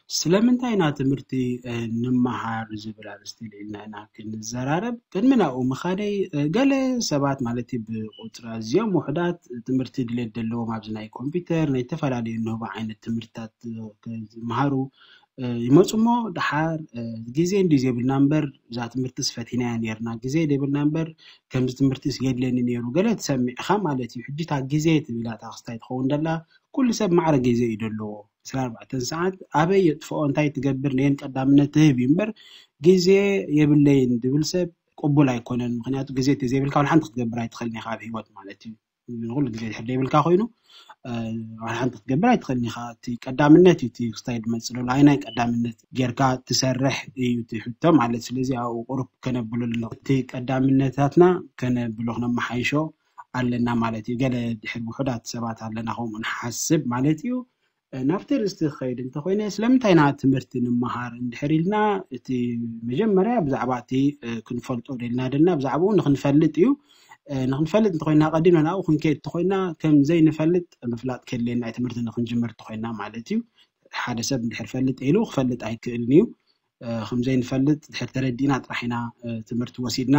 ስለምንታይ ኢና ትምህርቲ ንምሃር ዝብል ኣርእስቲ ልዒልና ኢና ክንዘራረብ። ቅድሚ ናብኡ ምኻደይ፣ ገለ ሰባት ማለት እዩ ብቁፅሪ ኣዝዮም ውሑዳት ትምህርቲ ድሌት ዘለዎም ኣብዚ ናይ ኮምፒውተር ናይ ዝተፈላለዩ ንህቦ ዓይነት ትምህርትታት ክምሃሩ ይመፁ እሞ፣ ደሓር ግዜ እንዲ ዘይብልና እምበር እዛ ትምህርትስ ፈቲናያ ነርና፣ ግዜ ዘይብልና እምበር ከምዚ ትምህርትስ የድለኒ ነይሩ ገለ ትሰሚዕኻ ማለት እዩ። ሕጂ እታ ግዜ ትብላ እታ ክስታይ ትኸውን ደላ ኩሉ ሰብ ማዕረ ግዜ እዩ ደለዎ። ዕስራን ኣርባዕተን ሰዓት ኣበይ የጥፍኦ እንታይ ትገብር ነየን ቀዳምነት ትህብ እዩ እምበር ግዜ የብለይን ድብል ሰብ ቅቡል ኣይኮነን። ምክንያቱ ግዜ ተዘይብልካ ወላ ሓንቲ ክትገብር ኣይትኽእልን ኢኻ ኣብ ህይወት ማለት እዩ። ንኩሉ ግዜ ድሕር ዘይብልካ ኮይኑ ወላ ሓንቲ ክትገብር ኣይትኽእልን ኢኻ። እቲ ቀዳምነት እዩ እቲ ክስታይ ድመፅእ ዘሎ ኣይናይ ቀዳምነት ጌርካ ትሰርሕ እዩ እቲ ሕቶ ማለት። ስለዚ ኣብኡ ቁሩብ ከነብሎ ኣለና። እቲ ቀዳምነታትና ከነብሎ ክነመሓይሾ ኣለና ማለት እዩ። ገለ ድሕር ውሑዳት ሰባት ኣለና ከምኡ ንሓስብ ማለት እዩ። ናብቲ ርእስቲ ክኸይድ እንተኮይነ ስለምንታይ ኢና ትምህርቲ ንምሃር እንድሕር ኢልና እቲ መጀመርያ ብዛዕባ እቲ ክንፈልጦ ደልና ደልና ብዛዕባኡ ንክንፈልጥ እዩ። ንክንፈልጥ እንተኮይና ቀዲምና ናብኡ ክንከይድ እንተኮይና ከም ዘይንፈልጥ ምፍላጥ ከድልየና እዩ። ትምህርቲ ንክንጅምር እንተኮይና ማለት እዩ። ሓደ ሰብ እንድሕር ፈልጥ ኢሉ ክፈልጥ ኣይክእልን እዩ። ከምዘይንፈልጥ ድሕር ተረዲእና ጥራሕ ኢና ትምህርቲ ወሲድና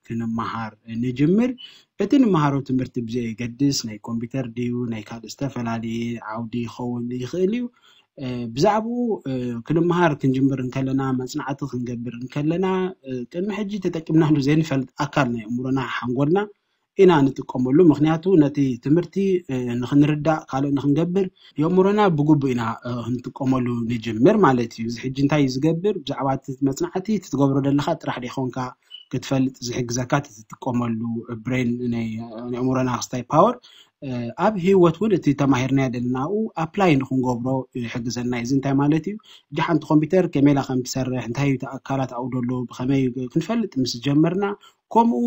ክንመሃር ንጅምር። እቲ ንመሃሮ ትምህርቲ ብዘየገድስ ናይ ኮምፒውተር ድዩ ናይ ካልእ ዝተፈላለየ ዓውዲ ይኸውን ይኽእል እዩ። ብዛዕባኡ ክንመሃር ክንጅምር እንከለና መፅናዕቲ ክንገብር እንከለና ቅድሚ ሕጂ ተጠቂምናሉ ዘይንፈልጥ ኣካል ናይ ኣእምሮና ሓንጎልና ኢና ንጥቀመሉ። ምክንያቱ ነቲ ትምህርቲ ንክንርዳእ ካልእ ንክንገብር የእምሮና ብግቡእ ኢና ክንጥቀመሉ ንጅምር ማለት እዩ። እዚ ሕጂ እንታይ እዩ ዝገብር? ብዛዕባ እቲ መፅናዕቲ እቲ ትገብሮ ዘለካ ጥራሕ ዶ ይኮንካ ክትፈልጥ ዝሕግዘካ እቲ ትጥቀመሉ ብሬን ናይ ኣእምሮና ክስታይ ፓወር ኣብ ህይወት እውን እቲ ተማሂርናዮ ዘለና ኣብኡ ኣፕላይ ንክንገብሮ ይሕግዘና እዩ። እዚ እንታይ ማለት እዩ? ሕጂ ሓንቲ ኮምፒውተር ከመይ ኢላ ከም ትሰርሕ እንታይ እዩ እቲ ኣካላት ኣብኡ ዘሎ ብከመይ ክንፈልጥ ምስ ጀመርና ከምኡ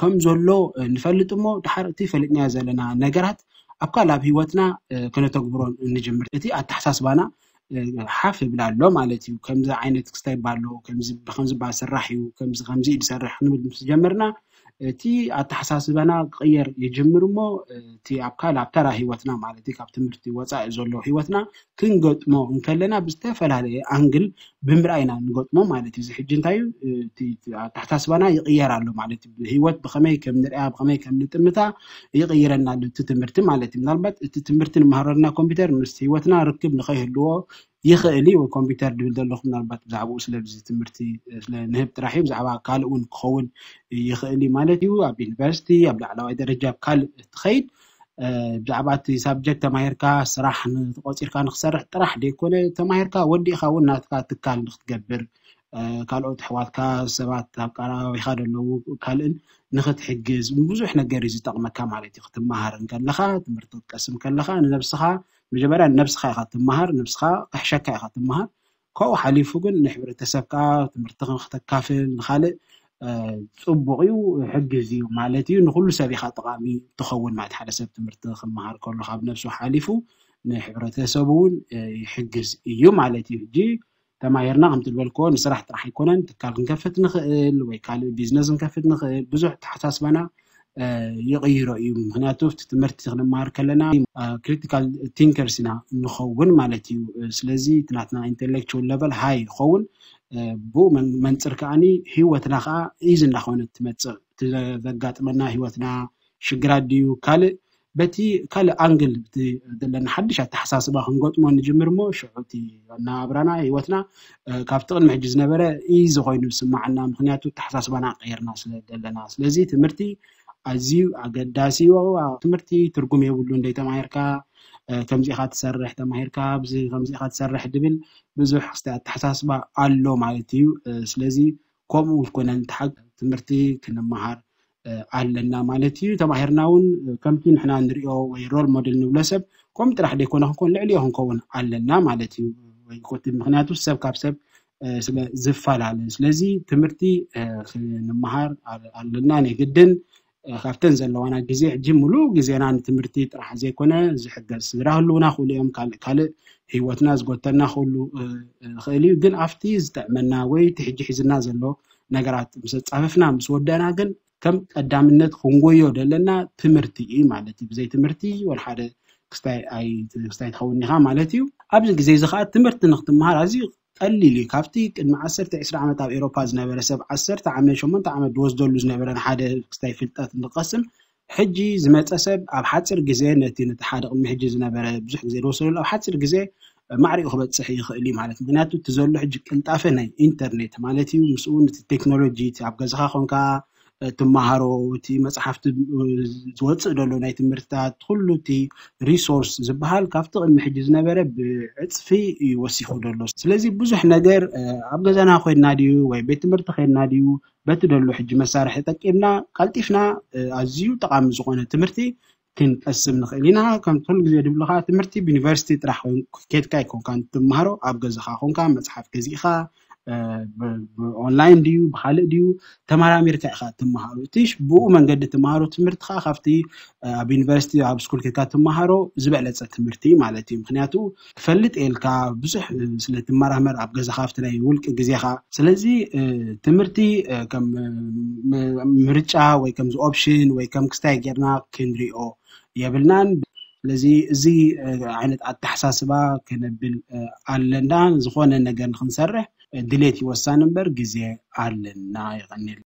ከም ዘሎ ንፈልጥ እሞ ድሓር እቲ ፈሊጥናዮ ዘለና ነገራት ኣብ ካልእ ኣብ ህይወትና ከነተግብሮ ንጅምር። እቲ ኣተሓሳስባና ሓፍ ይብል ኣሎ ማለት እዩ። ከምዚ ዓይነት ክስታይ ኣሎ፣ ከምዚ ብከምዚ ባ ስራሕ እዩ፣ ከምዚ ከምዚ እዩ ዝሰርሕ ክንብል ምስ ጀመርና እቲ ኣተሓሳስባና ክቕየር ይጅምር እሞ እቲ ኣብ ካልእ ኣብ ተራ ህይወትና ማለት እዩ ካብ ትምህርቲ ወፃኢ ዘሎ ህይወትና ክንገጥሞ እንከለና ብዝተፈላለየ ኣንግል ብምርኣይ ኢና ንገጥሞ ማለት እዩ። እዚ ሕጂ እንታይ እዩ እቲ ኣተሓሳስባና ይቕየር ኣሎ ማለት እዩ። ህይወት ብኸመይ ከም ንሪኣ ብኸመይ ከም ንጥምታ ይቕይረና ኣሎ እቲ ትምህርቲ ማለት እዩ። ምናልባት እቲ ትምህርቲ ንመሃረልና ኮምፒውተር ምስ ህይወትና ርክብ ንኸይህልዎ ይኽእል እዩ። ወይ ኮምፒውተር ድብል ዘለኹ ምናልባት ብዛዕባኡ ስለዚ ትምህርቲ ስለ ንህብ ጥራሕ እዩ። ብዛዕባ ካልእ እውን ክኸውን ይኽእል እዩ ማለት እዩ። ኣብ ዩኒቨርሲቲ ኣብ ላዕለዋይ ደረጃ ኣብ ካልእ ትኸይድ ብዛዕባ እቲ ሳብጀክት ተማሂርካ ስራሕ ተቆፂርካ ንክሰርሕ ጥራሕ ደይኮነ ተማሂርካ ወዲእካ እውን ናትካ ትካል ንክትገብር ካልኦት ኣሕዋትካ ሰባት ኣብ ቀረባቢኻ ዘለዉ ካልእን ንክትሕግዝ ብዙሕ ነገር እዩ ዝጠቕመካ ማለት እዩ። ክትመሃር እንከለካ ትምህርቲ ክትቀስም ከለካ ንነብስኻ መጀመርያ ንነብስኻ ኢኻ ትመሃር፣ ነብስኻ ክሕሸካ ኢኻ ትመሃር። ካብኡ ሓሊፉ ግን ንሕብረተሰብካ ትምህርቲ ከተካፍል ንካልእ ፅቡቕ እዩ፣ ይሕግዝ እዩ ማለት እዩ። ንኩሉ ሰብ ኢኻ ጠቓሚ ትኸውን ማለት ሓደ ሰብ ትምህርቲ ክመሃር ከሎ ካብ ነብሱ ሓሊፉ ንሕብረተሰቡ እውን ይሕግዝ እዩ ማለት እዩ። ሕጂ ተማሂርና ከምቲ ዝበልክዎ ንስራሕ ጥራሕ ኣይኮነን፣ ትካል ክንከፍት ንኽእል ወይ ካልእ ቢዝነስ ክንከፍት ንኽእል። ብዙሕ ተሓሳስባና ይቕይሮ እዩ። ምክንያቱ እቲ ትምህርቲ ክንመሃር ከለና ክሪቲካል ቲንከርስ ኢና ንኸውን ማለት እዩ። ስለዚ እቲ ናትና ኢንቴሌክቹዋል ለቨል ሃይ ይኸውን። ብኡ መንፅር ከዓኒ ህይወትና ከዓ ኢዚ እንዳኾነት ትመፅእ። እቲ ዘጋጥመና ህይወትና ሽግራት ድዩ ካልእ በቲ ካልእ ኣንግል እቲ ዘለና ሓድሽ ኣተሓሳስባ ክንገጥሞ ንጅምር እሞ ሽዑ እቲ ኣናብራና ህይወትና ካብቲ ቅድሚ ሕጂ ዝነበረ ኢዚ ኮይኑ ዝስማዓና። ምክንያቱ ኣተሓሳስባና ቀይርና ስለ ዘለና። ስለዚ ትምህርቲ ኣዝዩ ኣገዳሲ እዩ። ትምህርቲ ትርጉም የብሉ እንደይ ተማሂርካ ከምዚኢካ ትሰርሕ ተማሂርካ ከምዚኢካ ትሰርሕ ድብል ብዙሕ ክስተ ኣተሓሳስባ ኣሎ ማለት እዩ። ስለዚ ከምኡ ኮነ ንተሓግ ትምህርቲ ክንመሃር ኣለና ማለት እዩ። ተማሂርና እውን ከምቲ ንሕና ንሪኦ ወይ ሮል ሞዴል ንብሎ ሰብ ከምኡ ጥራሕ ደይኮነ ክንኮን ልዕሊኦ ክንከውን ኣለና ማለት እዩ። ወይ ኮቲ ምክንያቱ ሰብ ካብ ሰብ ስለ ዝፈላለ ስለዚ ትምህርቲ ክንመሃር ኣለና ናይ ግድን። ካብተን ዘለዋና ግዜ ሕጂ ሙሉእ ግዜና ንትምህርቲ ጥራሕ ዘይኮነ ዝሕገዝ ስድራ ህልውና ክእሉ እዮም ካልእ ካልእ ህይወትና ዝጎተና ክእሉ ይኽእል እዩ። ግን ኣብቲ ዝጥዕመና ወይ እቲ ሕጂ ሒዝና ዘሎ ነገራት ምስ ኣፃፈፍና ምስ ወደእና ግን ከም ቀዳምነት ክንጎዮ ዘለና ትምህርቲ እዩ ማለት እዩ። ብዘይ ትምህርቲ ወላ ሓደ ክስታይ ኣይ- ክስታይ ትኸውን ኢኻ ማለት እዩ። ኣብዚ ግዜ እዚ ከዓ ትምህርቲ ንክትመሃር ኣዝዩ ቀሊል እዩ። ካብቲ ቅድሚ ዓሰርተ ዕስራ ዓመት ኣብ ኤሮፓ ዝነበረ ሰብ ዓሰርተ ዓመት ሸሞንተ ዓመት ዝወስደሉ ዝነበረ ንሓደ ክስታይ ፍልጠት ንቀስም ሕጂ ዝመፀ ሰብ ኣብ ሓፂር ግዜ ነቲ ነቲ ሓደ ቅድሚ ሕጂ ዝነበረ ብዙሕ ግዜ ዝወሰደሉ ኣብ ሓፂር ግዜ ማዕሪኡ ክበፅሕ ይኽእል እዩ ማለት። ምክንያቱ እቲ ዘሎ ሕጂ ቅልጣፈ ናይ ኢንተርኔት ማለት እዩ። ምስኡ ነቲ ቴክኖሎጂ እቲ ኣብ ገዛኻ ኮንካ ትመሃሮ፣ እቲ መፅሓፍቲ ዝወፅእ ዘሎ ናይ ትምህርትታት ኩሉ እቲ ሪሶርስ ዝበሃል ካብቲ ቅድሚ ሕጂ ዝነበረ ብዕፅፊ እዩ ወሲኹ ዘሎ። ስለዚ ብዙሕ ነገር ኣብ ገዛና ኮይንና ድዩ ወይ ቤት ትምህርቲ ኮይንና ድዩ በቲ ደሎ ሕጂ መሳርሒ ጠቂምና ቀልጢፍና ኣዝዩ ጠቃሚ ዝኾነ ትምህርቲ ክንቀስም ንኽእል ኢና። ከም ኩሉ ግዜ ድብሉካ ትምህርቲ ብዩኒቨርሲቲ ጥራሕ ኬድካ ኣይኮንካ ትመሃሮ፣ ኣብ ገዛኻ ኮንካ መፅሓፍ ገዚእካ ብኦንላይን ድዩ ብካልእ ድዩ ተመራሚርካ ኢካ ትመሃሮ። እቲ ብኡ መንገዲ ትመሃሮ ትምህርቲ ከዓ ካብቲ ኣብ ዩኒቨርሲቲ ኣብ ስኩል ኬድካ ትመሃሮ ዝበለፀ ትምህርቲ ማለት እዩ። ምክንያቱ ክፈልጥ የልካ ብዙሕ ስለ ትመራመር ኣብ ገዛኻ ኣብቲ ናይ ውልቂ ግዜኻ። ስለዚ ትምህርቲ ከም ምርጫ ወይ ከምዚ ኦፕሽን ወይ ከም ክስታይ ጌርና ክንሪኦ የብልናን። ስለዚ እዚ ዓይነት ኣተሓሳስባ ከነብል ኣለና። ዝኾነ ነገር ንክንሰርሕ ድሌት ይወሳን እምበር ግዜ ኣለና። ይቀኒል።